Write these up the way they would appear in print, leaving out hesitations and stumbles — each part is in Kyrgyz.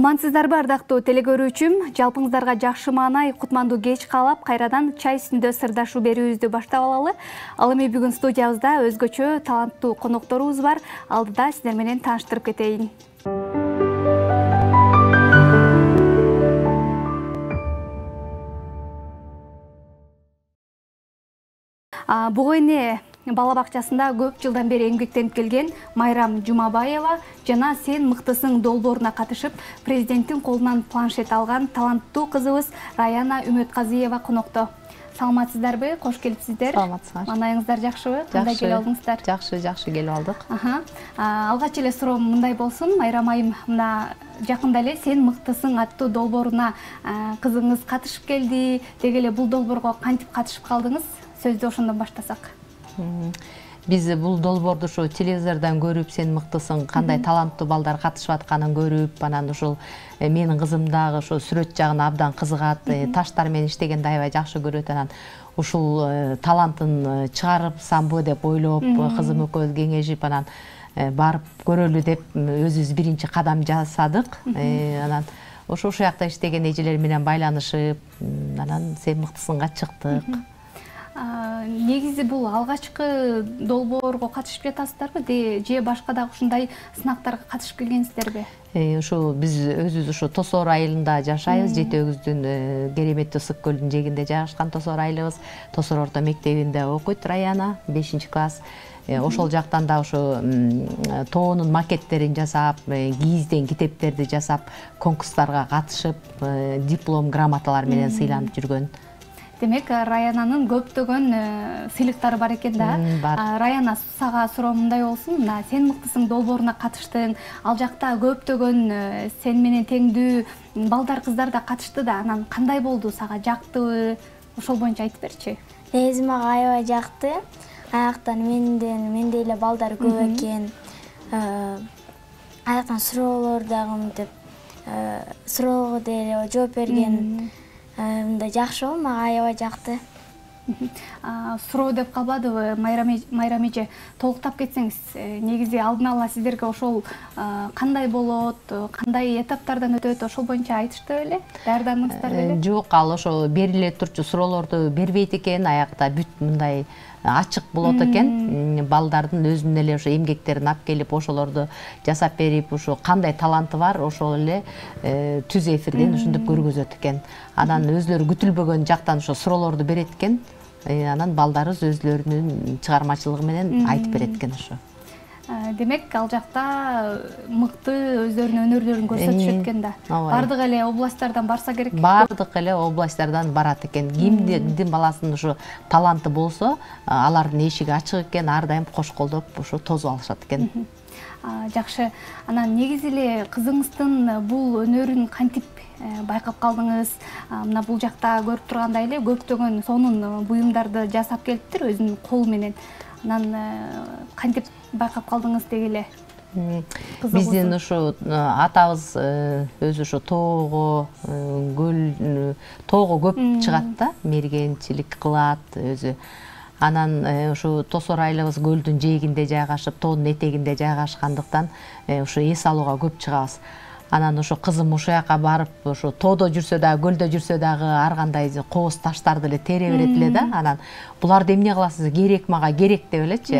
Амансыздарбы, ардактуу телекөрүүчүм? Жалпыңыздарга жакшы маанай, кутмандуу кеч каалап, кайрадан чай үстүндө сырдашуу берүүбүздү баштап алалы. Ал эми бүгүн студиябызда өзгөчө таланттуу конокторубуз бар. Алдыда сиздер менен тааныштырып кетейин. Буга эне бала бакчасында көп жылдан бери эмгектенип келген Майрам Жумабаева жана «Сен мыктысың» долбооруна катышып, президенттин колунан планшет алган таланттуу кызыбыз Раяна Үмөтказиева конокто. Саламатсыздарбы? Кош келипсиздер. Саламатсыздар. Маанайыңыздар жакшыбы? Кандай келип алдыңыздар? Жакшы келип алдык. Алгач эле суроом мындай болсун. Майрам айым, мына жакында эле «Сен мыктысың» аттуу долбооруна кызыңыз катышып келди. Деги эле бул долбоорго кантип катышып калдыңыз? Сөздү ошондон баштасак. Биз бул долбоорду ушу телевизордон көрүп, «Сен мыктысың», кандай таланттуу балдар катышып атканын көрүп, анан ушул менин кызым дагы ошо сүрөт жагына абдан кызыгат, таштар менен иштегенди аябай жакшы көрөт. Анан ушул талантын чыгарсамбы деп ойлоп, кызым экөөбүз кеңешип, анан барып көрөлү деп өзүбүз биринчи кадам жасадык. Анан ошол жакта иштеген эжелер менен байланышып, анан «Сен мыктысыңга» чыктык. Негизи бул алгачкы долбоорго катышып жатасыздарбы же башка дагы ушундай сынактарга катышып келгенсиздерби? Ушу биз өзүбүз ушу Тосоор айылында жашайбыз. Жети өгүздүн кереметтүү Ысык көлдүн жээгинде жайгашкан Тосоор айылыбыз. Тосоор орто мектебинде окуйт Раяна, 5-класс. Ошол жактан да ошо тоонун макеттерин жасап, кийизден китептерди жасап, конкурстарга катышып, диплом, грамоталар менен сыйланып жүргөн. Демек, Раянанын көптөгөн сыйлыктары бар экен да. Раяна, сага суроом мындай болсун. «Сен мыктысың» долбооруна катыштың. Ал жакта көптөгөн сен менен теңдүү балдар, кыздар да катышты да. Анан кандай болду? Сага жактыбы? Ошол боюнча айтып берчи. Негизи мага аябай жакты. Аяктан мендей эле балдар көп экен. Аяктан суроолор дагы мынтип суроого деле жооп берген. Мындай жакшы болду, мага аябай жакты. Суроо деп калбадыбы, Майрам эже? Толуктап кетсеңиз, негизи алдын ала сиздерге ошол кандай болот, кандай этаптардан өтөт, ошол боюнча айтышты беле? Даярдандыңыздар беле? Жок, ал ошо бериле турчу суроолорду бербейт экен, аякта бүт мындай ачык болот экен. Балдардын өзүнүн эле ошо эмгектерин алып келип, ошолорду жасап берип, ошо кандай таланты бар, ошол эле түз эфирден ушинтип көргөзөт экен. Анан өзлөрү күтүлбөгөн жактан ошо суроолорду берет экен. Анан балдарыбыз өзлөрүнүн чыгармачылыгы менен айтып берет экен ошо. Демек, ал жакта мыкты өздөрүнүн өнөрлөрүн көрсөтүшөт экен да. Бардык эле областтардан барса керек? Бардык эле областтардан барат экен. Кимдин баласынын ушу таланты болсо, алардын эшиги ачык экен, ар дайым кош колдоп ушу тосуп алышат экен. Жакшы. Анан негизи эле кызыңыздын бул өнөрүн кантип байкап калдыңыз? Мына бул жакта көрүп тургандай эле көптөгөн сонун буюмдарды жасап келиптир өзүнүн колу менен. Анан кантип байкап калдыңыз деги эле? Биздин ушу атабыз өзү ушу тоого көп чыгат да, мергенчилик кылат өзү. Анан ушу Тосоор айылыбыз көлдүн жээгинде жайгашып, тоонун этегинде жайгашкандыктан ушу эс алууга көп чыгабыз. Анан ошо кызым ушул жака барып, ошо тоодо жүрсө дагы, көлдө жүрсө дагы ар кандай кооз таштарды эле тере берет эле да. Анан буларды эмне кыласыз? Керек, мага керек деп элечи.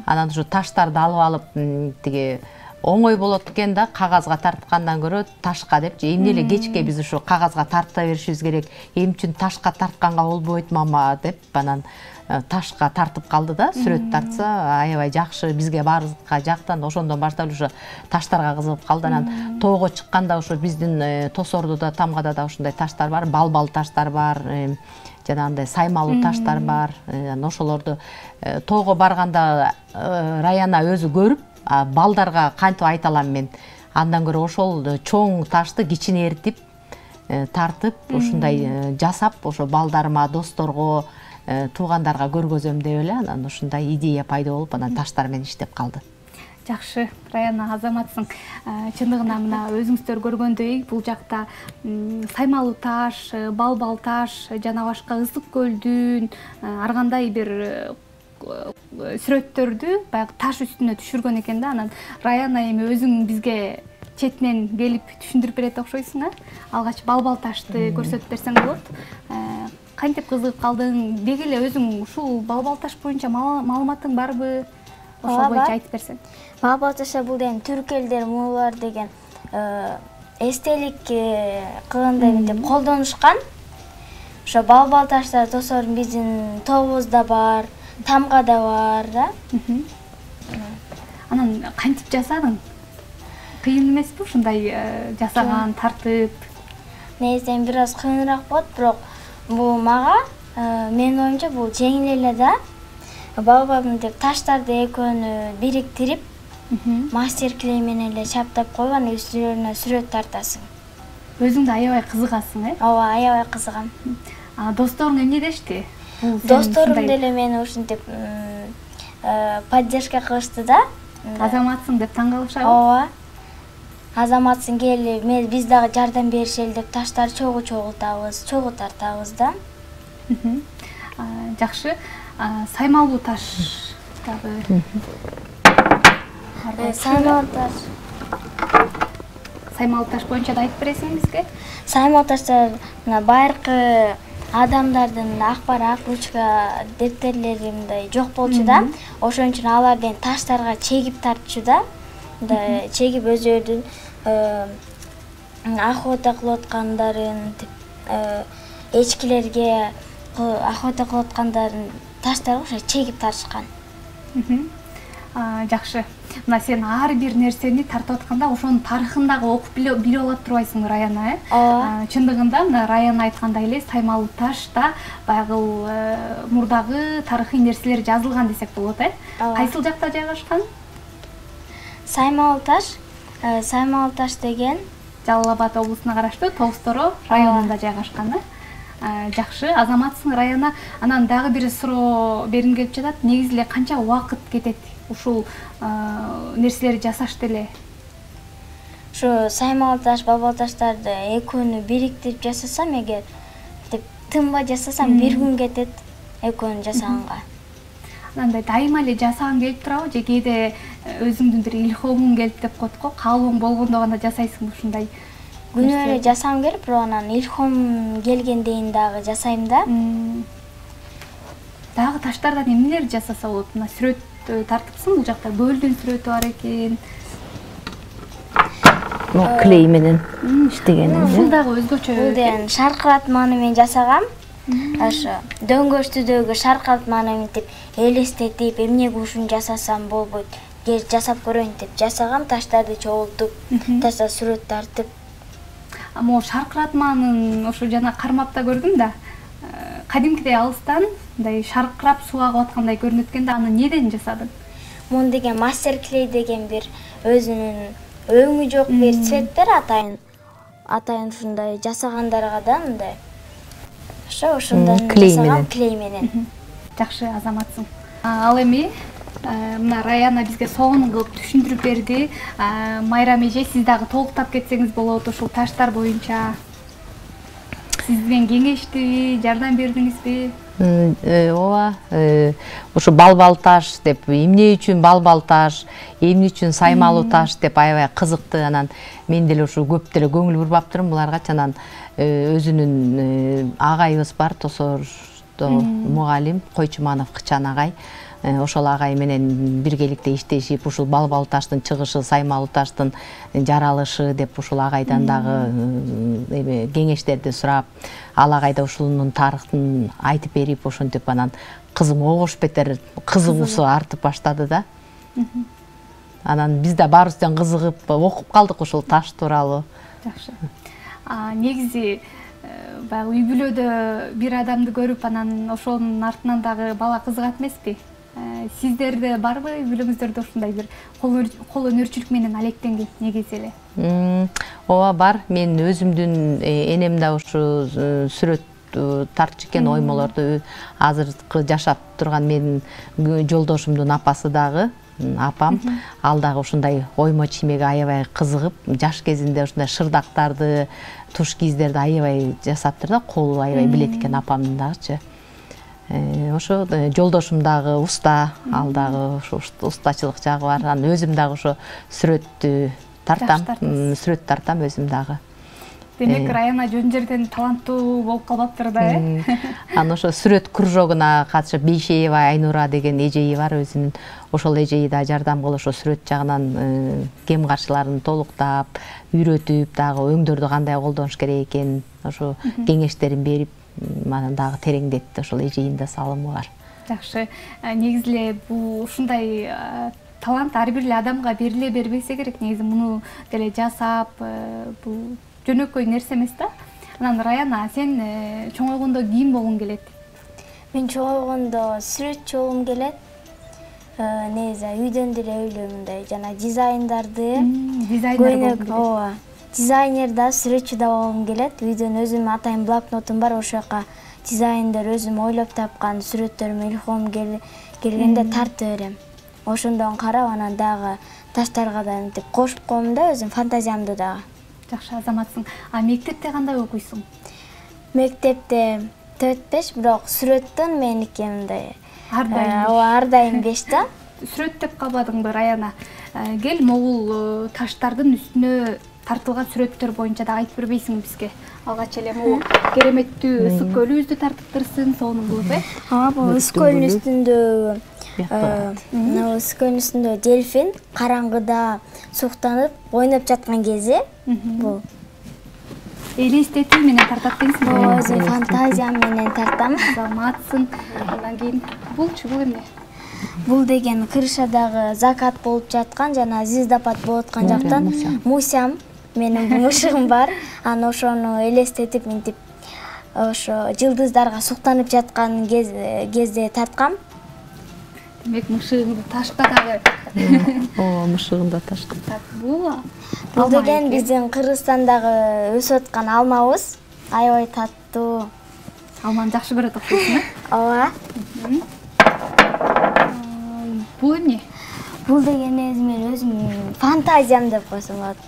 Анан ушу таштарды алып алып, тиги оңой болот экен да, кагазга тарткандан көрө ташка депчи. Эмне эле кечке биз ушу кагазга тарта беришибиз керек. Эми үчүн ташка тартканга болбойт мама деп, анан ташка тартып калды да, сүрөт тартса аябай жакшы, бизге баарыбызга жактан, ошондон баштап ушу таштарга кызыгып калды. Анан тоого чыкканда ушу биздин Тосоордо да, Тамгада да ушундай таштар бар, балбал таштар бар, жанагындай саймалуу таштар бар. Ошолорду тоого барганда Раяна өзү көрүп, балдарга кантип айта алам мен? Андан көрө ошол чоң ташты кичинертип, тартып, ушундай жасап, ошо балдарыма, досторго, туугандарга көргөзөм деп эле, анан ушундай идея пайда болуп, анан таштар менен иштеп калды. Жакшы, Раяна, азаматсың. Чындыгында мына өзүңүздөр көргөндөй, бул жакта саймалуу таш, балбал таш, жана башка Ысык көлдүн ар кандай бир сүрөттөрдү баягы таш үстүнө түшүргөн экен да. Анан Раяна эми өзүң бизге четинен келип түшүндүрүп берет окшойсуң, алгач балбал ташты көрсөтүп берсең болот. Кантип кызыгып калдың? Деги эле өзүң ушул балбал таш боюнча маалыматың барбы? Ошол боюнча айтып берсең. Балбал ташта бул деген түрк элдер мулулар деген эстелик кылгандай мынтип колдонушкан. Ошо балбал таштар тосор биздин тобубузда бар, тамгада бар да. Анан кантип жасадың? Кыйын эмеспи ушундай жасаган, тартып? Негизинен бир аз кыйыныраак болот, бирок бул мага менин оюмча бул жеңил эле да. Балбал мынтип таштарды экөөнү бириктирип, мастер клей менен эле чаптап коюп, анан үстүлөрүнө сүрөт тартасың. Өзүң да аябай кызыгасың, Ооба, аябай кызыгам. Досторуң эмне дешти? Досторум деле мени ушинтип поддержка кылышты да. Азаматсың деп таң калышабы? Ооба. Азаматсың, кел, биз дагы жардам беришели деп таштар чогуу чогултабыз, чогуу тартабыз да. Жакшы. Саймалуу таш дагы. Саймалуу таш боюнча да айтып бересиң бизге? Саймалуу таштар мына байыркы адамдардын ак бар ак ручка дептерлери мындай жок болчу да. Ошон үчүн алардын таштарга чегип тартчу да. Мындай чегип өзүлөрүнүн охота кылып аткандарын, эчкилерге охота кылып аткандарын таштарга ошо чегип тартышкан. Жакшы. Мына сен ар бир нерсени тартып атканда ошонун тарыхын дагы окуп билип алып турбайсың Раяна, Чындыгында мына Раяна айткандай эле саймалуу ташта баягы мурдагы тарыхый нерселер жазылган десек болот, Кайсыл жакта жайгашкан? Саймалуу таш деген Жалал Абад облусуна караштуу Тоосторо районунда жайгашкан. Жакшы, азаматсың Раяна. Анан дагы бир суроо бергим келип жатат. Негизи эле канча убакыт кетет ушул нерселерди жасашты эле? Ушу саймалуу таш, балбал таштарды экөөнү бириктирип жасасам, эгер деп тынбай жасасам 1 күн кетет экөөнү жасаганга. Андай дайыма эле жасагың келип турабы же кээде өзүңдүн бир илхомуң келип деп коет го, каалооң болгондо гана жасайсың ушундай? Күнөө эле жасагым келип, бирок анан илхом келгендейин дагы жасайм да. Дагы таштардан эмнелерди жасаса болот? Мына сүрөт тартыпсың, бул жакта көлдүн сүрөтү бар экен. Клей менен иштегеним. Бул дагы өзгөчө. Бул деген шаркыратманы менен жасагам. Ошо дөңгөчтүдөгү шаркыратманы мынтип элестетип, эмнеге ушуну жасасам болбойт, жасап көрөйүн деп жасагам, таштарды чогултуп, ташта сүрөт тартып. Могу шаркыратманын ошо жана кармап да көрдүм да. Кадимкидей алыстан мындай шаркырап суу агып аткандай көрүнөт экен да, аны неден жасадың? Мун деген мастер клей деген бир өзүнүн өңү жок бир цвет бар, атайын ушундай жасагандарга да мындай. Ошондон жасагам клей менен. Жакшы, азаматсың. Ал эми мына Раяна бизге сонун кылып түшүндүрүп берди. Майрам эже, сиз дагы толуктап кетсеңиз болот ушул таштар боюнча. Сиз менен кеңештиби, жардам бердиңизби? Ооба, ушу балбал таш деп, эмне үчүн балбал таш, эмне үчүн саймалуу таш деп аябай кызыкты. Анан мен деле ушу көп деле көңүл бурбаптырмын буларга. Анан өзүнүн агайыбыз бар, Тосордо мугалим Койчуманов Кычан агай. Ошол агай менен биргеликте иштешип, ушул балбал таштын чыгышы, саймалуу таштын жаралышы деп ушул агайдан дагы кеңештерди сурап, ал агай да ушунун тарыхын айтып берип, ошентип анан кызым огош бетер кызыгуусу артып баштады да. Анан биз да баарыбыздан кызыгып окуп калдык ушул таш тууралуу. Жакшы. Негизи баягы үй бүлөдө бир адамды көрүп, анан ошонун артынан дагы бала кызыгат эмеспи? Сиздерде барбы үй бүлөңүздөрдө ушундай бир кол өнөрчүлүк менен алектенген негизи эле? Ооба бар. Мен өзүмдүн энем да ушу сүрөт тартчу экен, оймолорду. Азыркы жашап турган менин жолдошумдун апасы дагы, апам, ал дагы ушундай оймо чиймеге аябай кызыгып, жаш кезинде ушундай шырдактарды, туш киздерди аябай жасаптыр да, колу аябай билет экен апамдын дагычы. Ошо жолдошум дагы уста, ал дагы ушу устачылык жагы бар. Анан өзүм дагы ошо сүрөттү тартам, сүрөт тартам өзүм дагы. Демек Раяна жөн жерден таланттуу болуп калбаптыр да, Анан ошо сүрөт кружогуна катышып Бейшеева Айнура деген эжеи бар өзүнүн. Ошол эжеи да жардам кылып ошо сүрөт жагынан кем каршыларын толуктап, үйрөтүп, дагы өңдөрдү кандай колдонуш керек экенин ошо кеңештерин берип, мана дагы тереңдетти. Ошол эжейин да салымы бар. Жакшы. Негизи эле бул ушундай талант ар бир эле адамга бериле бербесе керек. Негизи муну деле жасап, бул жөнөкөй нерсе эмес да. Анан Раяна, сен чоңойгондо ким болгуң келет? Мен чоңойгондо сүрөтчү болгум келет. Негизи үйдөн деле ойлойм мындай жана дизайндарды Дизайнер ооба. Дизайнер да, сүрөтчү да болгум келет. Үйдөн өзүм атайын блокнотум бар, ошол жака дизайндер өзүм ойлоп тапкан сүрөттөрүмө илхом келгенде тартып берем. Ошондон карап анан дагы таштарга да мынтип кошуп коем да, өзүм фантазиямды дагы. Жакшы азаматсың. Мектепте кандай окуйсуң? Мектепте 4-5, бирок сүрөттөн меники мындай Ар дайым 5 да. Сүрөт деп калбадыңбы, Раяна? Кел, могул таштардын үстүнө тартылган сүрөттөр боюнча да айтып бербейсиңби бизге? Алгач эле могул кереметтүү ысык көлүбүздү тартыптырсың, сонун кылып, бул ысык көлдүн үстүндө ысык көлдүн үстүндө дельфин караңгыда суктанып ойноп жаткан кези бул элестетүү менен тартат дейсиңби? Өзүм фантазиям менен тартам. Азаматсың. Андан кийин булчу бул эмне? Бул деген крышадагы закат болуп жаткан жана звездопад болуп аткан жактан мусям менин мушугум бар. Анан ошону элестетип мынтип ошо жылдыздарга суктанып жаткан кезде тарткам. Демек мышыгыңды ташка дагы. Ооба, мышыгында ташка. Бул деген биздин Кыргызстандагы өсүп аткан алмабыз. Аябай таттуу. Алманы жакшы көрөт окшойсуң, э? Ооба. Бул эмне? Бул деген мен өзүм фантазиям деп койсом болот.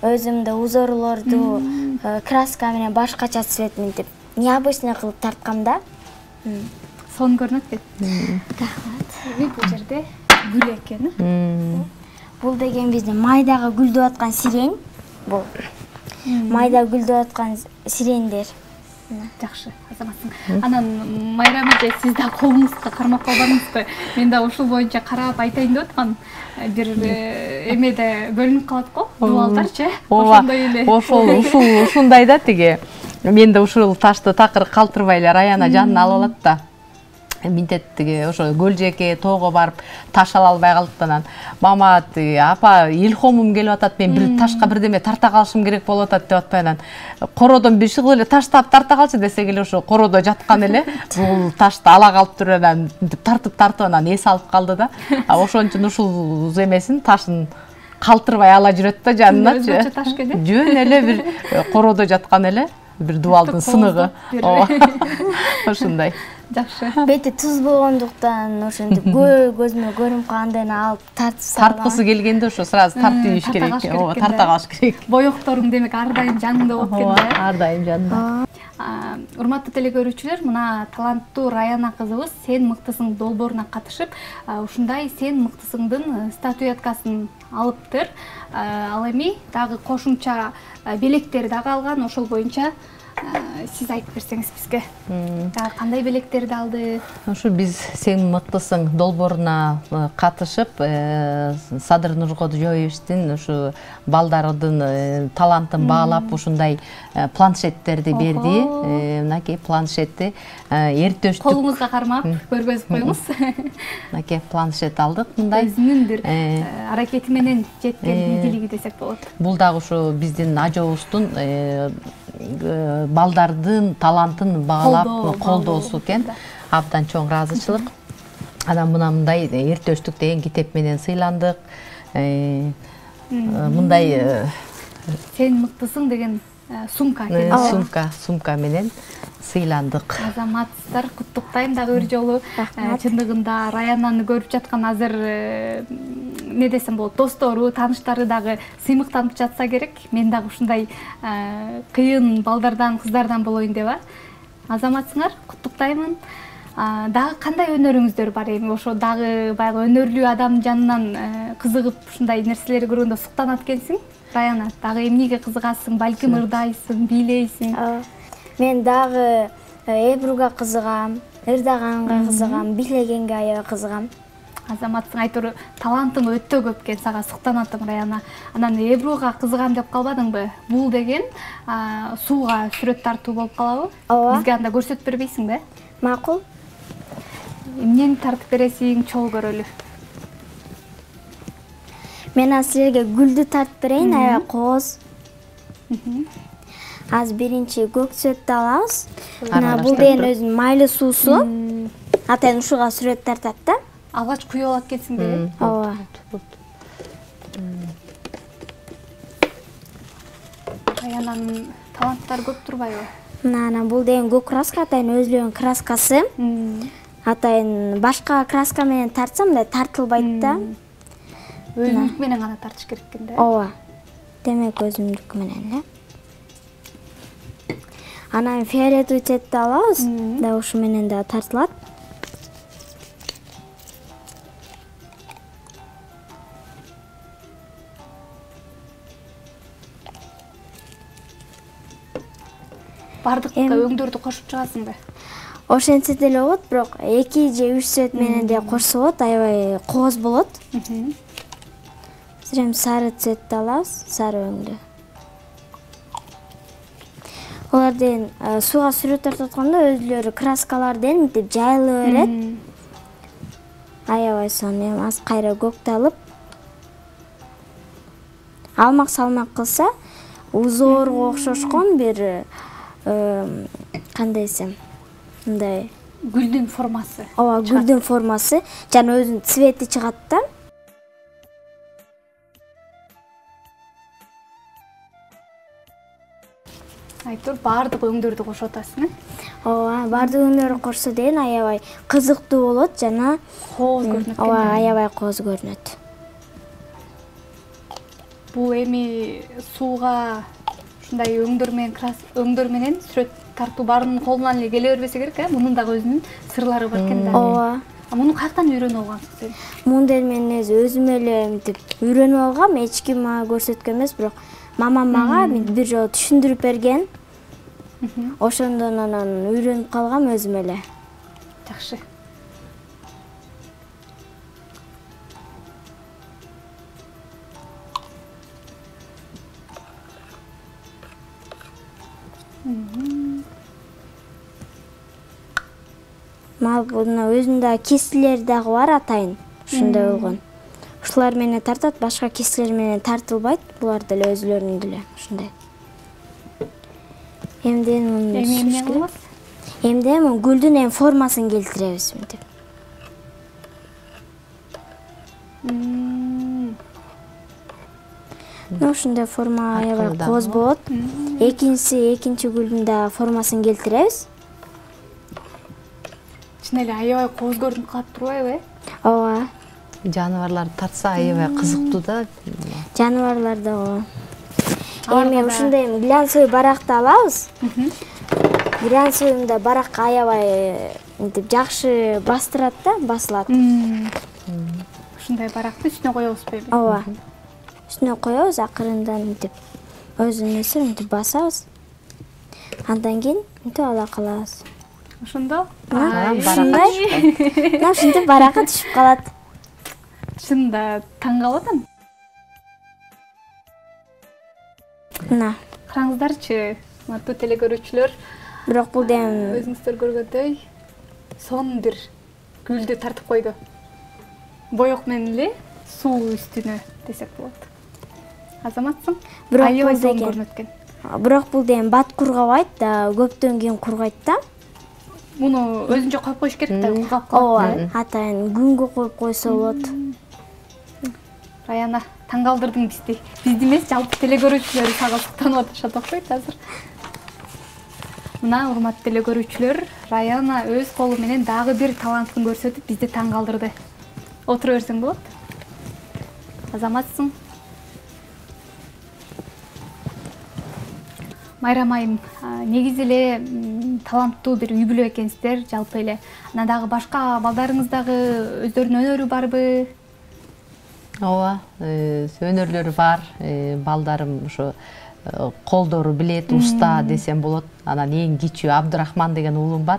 Өзүмдө узорлорду краска менен башкача цвет мынтип необычный кылып тарткам да. Сон көрүнөт экен. Бул жерде гүл экен. Бул деген биздин майдагы гүлдөп аткан сирень. Бул майда гүлдөп аткан сирендер. Жакшы, азаматсың. Анан Майрам эже, сиз да колуңузга кармап калбадыңызбы? Мен да ушул боюнча карап айтайын деп аткам. Бир эмеде бөлүнүп калат го, дубалдарчы. Ошондой эле. Ушундай да тиги. Мен да ушул ташты такыр калтырбай эле Раяна жанына алып алат да. Минтет тиги ошо көл жеке тоого барып таш ала албай калыптан мама апа илхомум келип атат, мен бир ташка бирдеме тарта калышым керек болуп атат деп атпай анан кородон бир чыгып эле таштап тарта калчы десек эле ошо кородо жаткан эле бул ташты ала калып туруп анан тартып анан эс алып калды да. Ошон үчүн ушул эмесин ташын калтырбай ала жүрөт да жаныначы. Өзгөчө таш экен. Жөн эле бир кородо жаткан эле бир дубалдын сыныгы. Ошондой. Жакшы. Бети туз болгондуктан ошентип көзүмө көрүнүп калгандайын алып тартып салам. Тарткысы келгенде ошо сразу тартып ийиш керек. Ооба, тарта калыш керек. Боекторуң демек ар дайым жаныңда болуп кеткен да. Ооба, ар дайым жанымда. Урматтуу телекөрүүчүлөр, мына таланттуу Раяна кызыбыз Сен мыктысың долбооруна катышып, ушундай Сен мыктысыңдын статуэткасын алыптыр. Ал эми дагы кошумча белектер дагы алган, ошол боюнча сиз айтып берсеңиз бизге. Кандай белектерди алды? Ушу биз Сен мыктысың долбооруна катышып, Садыр Нуркожоевичтин ушу балдардын талантын баалап ушундай планшеттерди берди. Мынакей планшетти эртөштүк. Колуңузга кармап көргөзүп коюңуз. Мынакей планшет алдык мындай. Өзүнүн бир аракети менен жеткен идилиги десек болот. Бул дагы ушу биздин ажообуздун балдардын талантын баалап колдоосу экен. Абдан чоң ыраазычылык. Анан мындай эртөштүк деген китеп менен сыйландык. Мындай Сен мыктысың деген сумка экен. Сумка менен сыйландык. Азаматсыздар, куттуктайм дагы бир жолу. Чындыгында Раянаны көрүп жаткан азыр не десем болот, достору, тааныштары дагы сыймыктанып жатса керек. Мен дагы ушундай кыйын балдардан, кыздардан болоюн деп. Азаматсыңар, куттуктаймын. Дагы кандай өнөрүңүздөр бар эми? Ошо дагы баягы өнөрлүү адам жанынан кызыгып ушундай нерселерди көргөндө суктанат экенсиң. Раяна, дагы эмнеге кызыгасың? Балким ырдайсың, бийлейсиң. Мен дагы эбруга кызыгам, ырдаганга кызыгам, бийлегенге аябай кызыгам. Азаматсың, айтор талантың өтө көп экен, сага суктанатым Раяна. Анан эбруга кызыгам деп калбадыңбы? Бул деген сууга сүрөт тартуу болуп калабы? Бизге анда көрсөтүп бербейсиңби? Макул. Эмнени тартып бересиң, чогуу көрөлү. Мен силерге гүлдү тартып берейин, аябай кооз. Азыр биринчи көк сүрөттү алабыз. Мына бул деген өзүнүн майлуу суусу. Атайын ушуга сүрөт тартат да. Алгач куюп алат экенсиң да. Ооба. Раянанын таланттары көп турбайбы? Мына бул деген көк краска, атайын өзүнүн краскасы. Атайын башка краска менен тартсам мындай тартылбайт да. Өзүнүкү менен гана тартыш керек экен да. Ооба. Демек өзүмдүкү менен да. Анан фиолетовый цветти алабыз. Да ушу менен да тартылат. Бардык өңдөрдү кошуп чыгасыңбы? Ошентсе деле болот, бирок 2 же 3 цвет менен де кошсо болот, аябай кооз болот. Эми сары цветти алабыз, сары өңдү. Олар деген сууга сүрөт тартып атканда өзүлөрү краскаларден мынтип жайылып берет. Аябай сонун, эми аз кайра көктү алып алмак салмак кылса, узоорго окшошкон бир кандай десем, мындай гүлдүн формасы. Ооба, гүлдүн формасы жана өзүнүн цвети чыгат да. Айтор бардык өңдөрдү кошуп атасың, Ооба, бардык өңдөрдү кошсо деген аябай кызыктуу болот жана кооз көрүнөт. Ооба, аябай кооз көрүнөт. Бул эми сууга ушундай өңдөр менен сүрөт тартуу баарынын колунан эле келе бербесе керек, Мунун дагы өзүнүн сырлары бар экен да. Ооба. Муну каяктан үйрөнүп алгансың сен? Муну деле мен өзүм эле мынтип үйрөнүп алгам, эч ким мага көрсөткөн эмес, бирок мамам мага бир жолу түшүндүрүп берген. Ошондон анан үйрөнүп калгам өзүм эле. Жакшы. Мына өзүнүн дагы кесилери дагы бар атайын. Ушундай болгон. Ушулар менен тартат, башка кесилер менен тартылбайт. Булар деле өзүлөрүнүн деле ушундай. Эмне кылабыз? Эмне гүлдүн формасын келтиребиз мынтип. Ушундай форма аябай кооз болот. Экинчи гүлдүн да формасын келтиребиз. Чын эле аябай кооз көрүнүп калат турбайбы? Ооба. Жаныбарларды тартса аябай кызыктуу да. Жаныбарларды ооба. Эми ушундай глянцевый баракты алабыз. Глянцевыйда барак аябай мынтип жакшы бастырат да, басылат. Ушундай баракты үстүнө коебузбу? Ооба. Үстүнө коебуз, акырындан мынтип өзүнүн нерсе мынтип басабыз. Андан кийин мынтип ала калабыз. Ошондо ушинтип баракы түшүп калат. Чынында таң калып атам. Мына караңыздарчы, урматтуу теле көрүүчүлөр. Бирок бул дем өзүңүздөр көргөндөй сонун бир гүлдү тартып койду. Боек менен эле суу үстүнө десек болот. Азаматсың? Аябай сонун көрүнөт экен. Бирок бул дем бат кургабайт да, көптөн кийин кургайт да. Муну өзүнчө коюп коюш керек да, кургап калат. Ооба, атайын күнгө коюп койсо болот. Раяна, таң калтырдың бизди. Бизди эмес, жалпы теле көрүүчүлөр сага суктанып атышат окшойт азыр. Мына урматтуу теле көрүүчүлөр, Раяна өз колу менен дагы бир талантын көрсөтүп бизди таң калтырды. Отура берсең болот. Азаматсың? Майрам айым, негизи эле таланттуу бир үй бүлө экенсиздер жалпы эле. Анан дагы башка балдарыңыз дагы өздөрүнүн өнөрү барбы? Ооба, өнөрлөрү бар. Балдарым ошо колдору билет, уста десем болот. Анан эң кичүү Абдырахман деген уулум бар.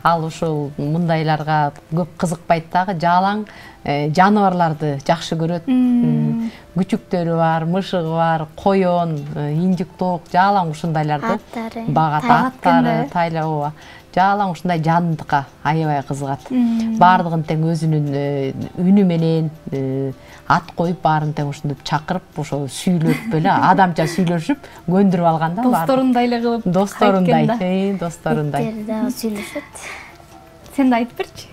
Ал ушул мындайларга көп кызыкпайт дагы, жалаң жаныбарларды жакшы көрөт. Күчүктөрү бар, мышыгы бар, коён, инжик тоок, жалаң ушундайларды багат, аттары, тайла, ооба. Жалаң ушундай жандыкка аябай кызыгат. Бардыгын тең өзүнүн үнү менен ат коюп, баарын тең ушинтип чакырып, ошо сүйлөп эле адамча сүйлөшүп, көндүрүп алган да. Досторундай эле кылып. Досторундай, досторундай. Иттер да сүйлөшөт. Сен да айтып берчи.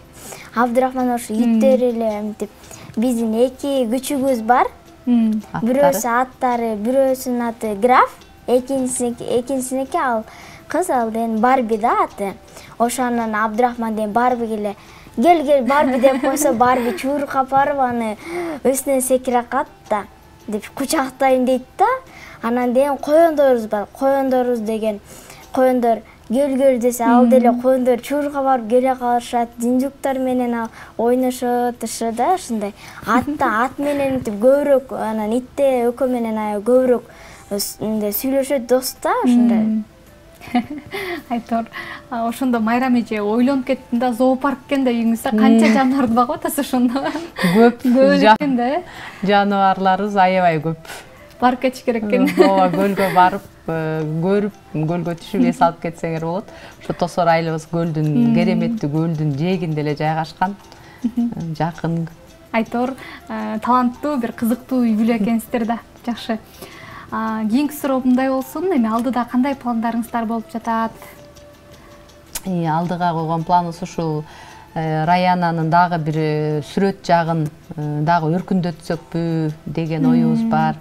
Абдырахман ошо иттер эле мынтип биздин 2 күчүгүбүз бар. Бирөөсү аттары, бирөөсүнүн аты Граф, экинчисиники ал кыз, ал деген Барби да аты. Ошо анан Абдырахман деген Барби келе гел Барби деп койсо, Барби чууркап барып аны үстүнөн секире калат да, деп кучактайм дейт да. Анан деген коёндорубуз бар. Коёндорубуз деген коёндор гел десе, ал деле коёндор чуурга барып келе калышат, жинжуктар менен ал ойношот, да, ушундай. Ат менен көбүрөөк, анан итте экөө менен аябай көбүрөөк сүйлөшөт, дос да, ушундай. Айтор, ошондо Майрам эже ойлонуп кеттим да, зоопарк экен да үйүңүздө канча жаныбарды багып атасыз ошондо? Көп экен да, жаныбарларыбыз аябай көп. Барып кетиш керек экен. Ооба, көлгө барып, көрүп, көлгө түшүп эс алып кетсеңер болот. Ошо Тосор айылыбыз көлдүн, кереметтүү көлдүн жээгинде эле жайгашкан. Жакын. Айтор, таланттуу, бир кызыктуу үй бүлө экенсиздер да. Жакшы. Кийинки суроо мындай болсун, эми алдыда кандай пландарыңыздар болуп жатат? Алдыга койгон планыбыз ушул Раянанын дагы бир сүрөт жагын дагы өркүндөтсөкпү деген оюбуз бар.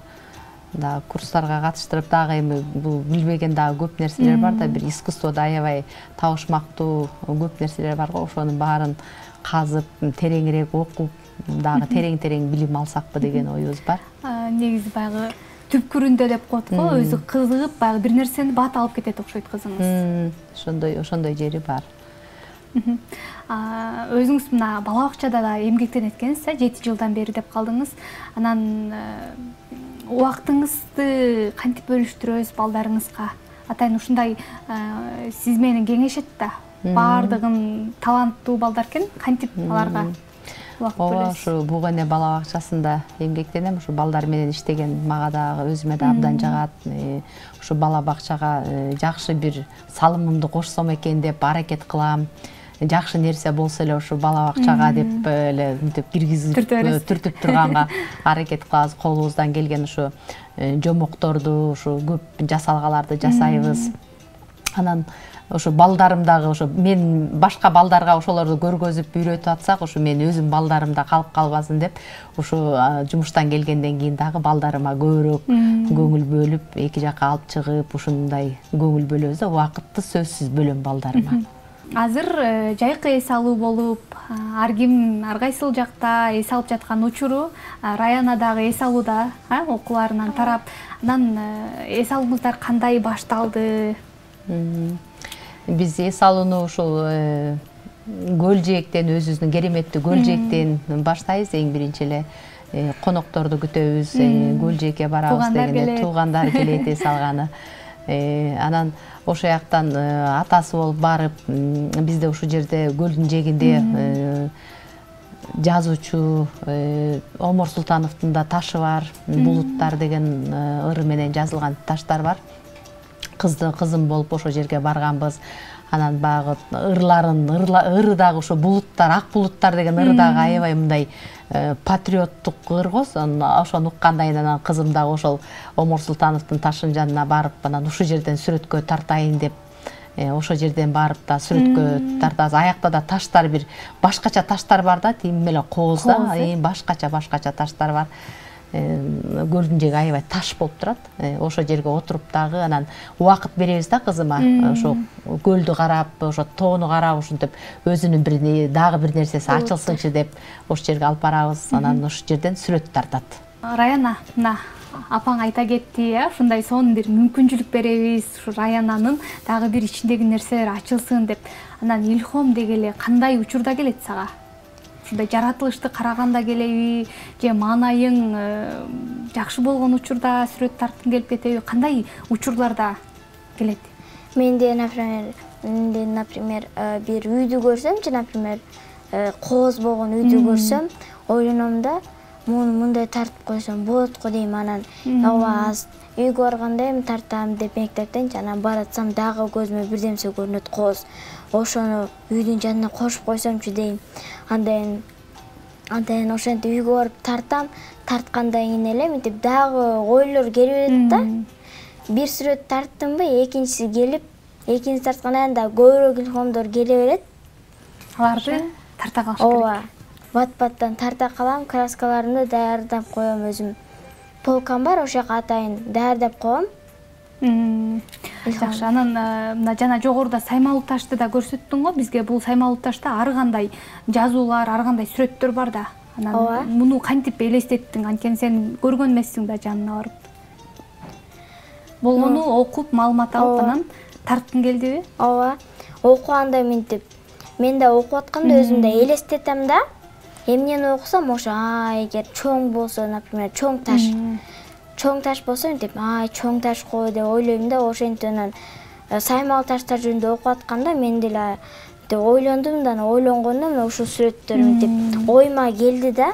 Да курстарга катыштырып, дагы эми бул билбеген дагы көп нерселер бар да, бир искусстводо аябай табышмактуу көп нерселер бар го. Ошонун баарын казып, тереңирээк окуп, дагы терең билим алсакпы деген оюбуз бар. Негизи баягы түпкүрүндө деп коет го, өзү кызыгып, баягы бир нерсени бат алып кетет окшойт кызыңыз. Ошондой жери бар. Өзүңүз мына бала бакчада да эмгектенет экенсиз, 7 жылдан бери деп калдыңыз. Анан убактыңызды кантип бөлүштүрөсүз балдарыңызга? Атайын ушундай сиз менен кеңешет да. Баардыгын таланттуу балдар экен, кантип аларга убакыт бөлөсүз? Ушу Бугене бала бакчасында эмгектенем. Ушу балдар менен иштеген мага дагы өзүмө да абдан жагат. Ушу бала бакчага жакшы бир салымымды кошсом экен деп аракет кылам. Жакшы нерсе болсо эле ушу бала бакчага деп эле мынтип киргизип түртүп турганга аракет кылабыз. Колубуздан келген ушу жомокторду, ушу көп жасалгаларды жасайбыз. Анан ошо балдарым дагы, ошо мен башка балдарга ошолорду көргөзүп үйрөтүп атсак, ошо мен өзүм балдарымда калып калбасын деп, ошо жумуштан келгенден кийин дагы балдарыма көбүрөөк көңүл бөлүп, эки жакка алып чыгып, ушундай көңүл бөлөбүз да. Убакытты сөзсүз бөлөм балдарыма. Азыр жайкы эс алуу болуп, ар ким ар кайсыл жакта эс алып жаткан учуру, Раяна дагы эс алууда, окууларынан тарап. Анан эс алууңуздар кандай башталды? Биз эс алууну ушул көл жээктен, өзүбүздүн кереметтүү көл жээктен баштайбыз. Эң биринчи эле конокторду күтөбүз, көл жээкке барабыз дегенде туугандар келет эс алганы. Анан ошол жактан атасы болуп барып, бизде ушул жерде көлдүн жээгинде жазуучу Омор Султановдун да ташы бар, Булуттар деген ыры менен жазылган таштар бар. Кызым болуп ошол жерге барганбыз. Анан баягы ыры дагы ошо булуттар, ак булуттар деген ыры дагы аябай мындай патриоттук ыр го. Ошону уккандан кийин анан кызым дагы ошол Омор Султановдун ташынын жанына барып, анан ушул жерден сүрөткө тартайын деп, ошол жерден барып да сүрөткө тартабыз. Аякта да таштар бир башкача таштар бар да, тим эле кооз да, башкача таштар бар. Көлдүн жээги аябай таш болуп турат. Ошол жерге отуруп дагы анан убакыт беребиз да кызыма. Ошо көлдү карап, ошо тоону карап, ушинтип өзүнүн дагы бир нерсеси ачылсынчы деп ошол жерге алып барабыз. Анан ошол жерден сүрөт тартат. Раяна, мына апаң айта кетти, ушундай сонун бир мүмкүнчүлүк беребиз, ушу Раянанын дагы бир ичиндеги нерселер ачылсын деп. Анан илхом дегеле кандай учурда келет сага? Ушундай жаратылышты караганда келеби, же маанайың жакшы болгон учурда сүрөт тарткың келип кетеби? Кандай учурларда келет? Менде, например, бир үйдү көрсөмчү, например, кооз болгон үйдү көрсөм, ойлоном да, мындай тартып койсом болот го дейм. Анан ооба үйгө барганда эми тартам деп мектептен анан баратсам дагы көзүмө бирдемсе көрүнөт кооз. Ошону үйдүн жанына кошуп койсомчу дейм. Андан ошентип үйгө барып тартам, тарткандан кийин эле мынтип дагы ойлор келип берет да. Бир сүрөт тарттымбы, экинчиси келип, экинчиси тарткандан да көбүрөөк илхомдор келе берет. Аларды тарта калыш керек. Ооба. Бат-баттан тарта калам, краскаларымды даярдап коем өзүм. Полкам бар, ошол жака атайын даярдап коем. Жакшы. Анан мына жана жогоруда саймалуу ташты да көрсөттүң го бизге. Бул саймалуу ташта ар кандай жазуулар, ар кандай сүрөттөр бар да. Анан муну кантип элестеттиң? Анткени сен көргөн эмессиң да жанына барып. Болгону окуп, маалымат алып, анан тарткың келдиби? Ооба. Окуганда мынтип мен да окуп атканда өзүм да элестетем да. Эмнени окусам, ошо эгер чоң болсо, например, чоң таш болсо мынтип, чоң таш го деп ойлойм да. Ошентип анан саймал таштар жөнүндө окуп атканда мен деле ойлондум да, ойлонгондо мына ушул сүрөттөр мынтип оюма келди да.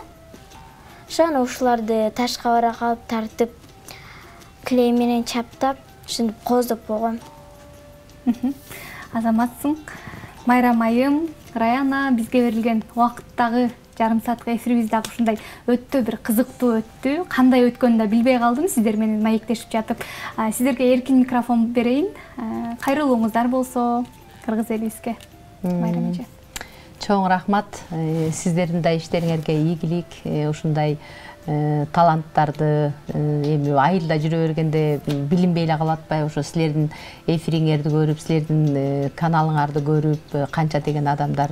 Ошон ушуларды ташка бара калып тартып, клей менен чаптап, ушинтип кооздоп койгом. Азаматсың. Майрам айым, Раяна, бизге берилген убакыттагы жарым саатка эфирибиз дагы ушундай өтө бир кызыктуу өттү. Кандай өткөнүн да билбей калдым сиздер менен маектешип жатып. Сиздерге эркин микрофон берейин. Кайрылууңуздар болсо кыргыз элибизге. Майрам эже. Чоң рахмат. Сиздердин да иштериңерге ийгилик. Ушундай таланттарды эми айылда жүрө бергенде билинбей эле калып атпайбы? Ошо силердин эфириңерди көрүп, силердин каналыңарды көрүп, канча деген адамдар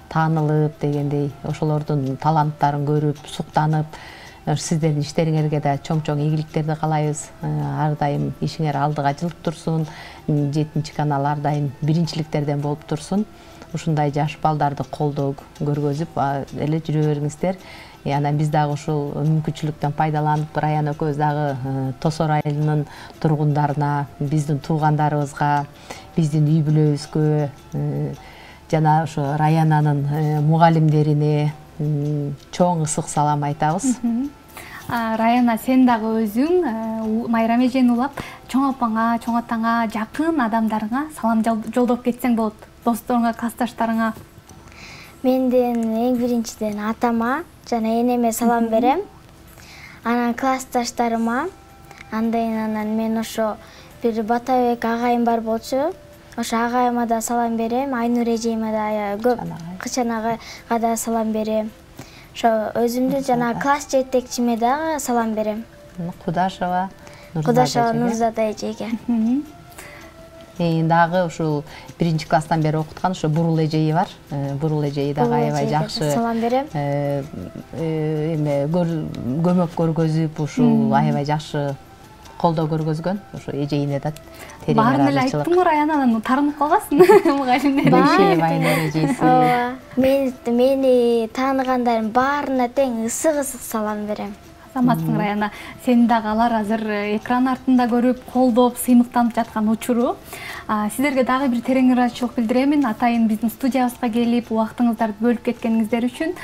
таанылып дегендей, ошолордун таланттарын көрүп, суктанып, сиздердин иштериңерге да чоң-чоң ийгиликтерди каалайбыз. Ар дайым ишиңер алдыга жылып турсун. 7 канал ар дайым биринчиликтерден болуп турсун. Ушундай жаш балдарды колдоо көргөзүп эле жүрө бериңиздер. Анан биз дагы ушул мүмкүнчүлүктөн пайдаланып, Раяна экөөбүз дагы Тосор айылынын тургундарына, биздин туугандарыбызга, биздин үй бүлөбүзгө жана ошо Раянанын мугалимдерине чоң ысык салам айтабыз. Раяна, сен дагы өзүң Майрам эжени улап, чоң апаңа, чоң атаңа, жакын адамдарыңа салам жолдоп кетсең болот. Досторуңа, классташтарыңа. Менден эң биринчиден атама жана энеме салам берем. Анан классташтарыма, анан мен ошо бир Батабек агайым бар болчу. Ошо агайыма да салам берем, Айнур эжеме да, көп Кычан агайга да салам берем. Ошо өзүмдүн жана класс жетекчиме дагы салам берем. Кудашева Нурзада эжеге. Дагы ушул 1-класстан бери окуткан ошо Бурул эжеи бар. Бурул эжеи дагы аябай жакшы салам берем. Эме көмөк көргөзүп, ушул аябай жакшы колдоо көргөзгөн. Ошо эжеине да терең ыраазычылык. Баарын эле айттың го, Раянанан таанып калгансың мугалимдер. Айнур эжеси. Мени тааныгандарым баарына тең ысык-ысык салам берем. Азаматсың, Раяна. Сени дагы алар азыр экран артында көрүп, колдоп, сыймыктанып жаткан учуру. Сиздерге дагы бир терең ыраазычылык билдиремин. Атайын биздин студиябызга келип, убактыңыздарды бөлүп кеткениңиздер үчүн.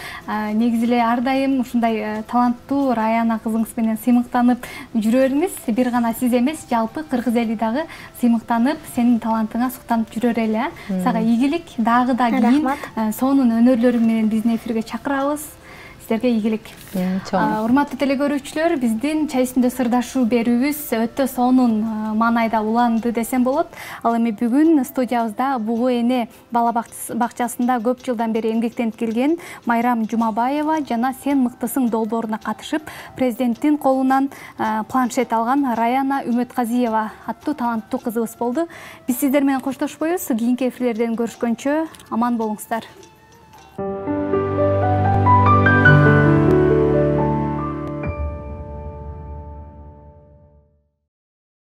Негизи эле ар дайым ушундай таланттуу Раяна кызыңыз менен сыймыктанып жүрө бериңиз. Бир гана сиз эмес, жалпы кыргыз эли дагы сыймыктанып, сенин талантыңа суктанып жүрөр эле. Сага ийгилик, дагы да кийин сонун өнөрлөрүң менен биздин эфирге чакырабыз. Сиздерге ийгилик. Урматтуу телекөрүүчүлөр, биздин чай үстүндө сырдашуу берүүбүз өтө сонун маанайда уланды десем болот. Ал эми бүгүн студиябызда Бугу эне бала бакчасында көп жылдан бери эмгектенип келген Майрам Жумабаева жана Сен мыктысың долбооруна катышып, президенттин колунан планшет алган Раяна Үмөтказиева аттуу таланттуу кызыбыз болду. Биз сиздер менен коштошпойбуз. Кийинки эфирлерден көрүшкөнчө аман болуңуздар.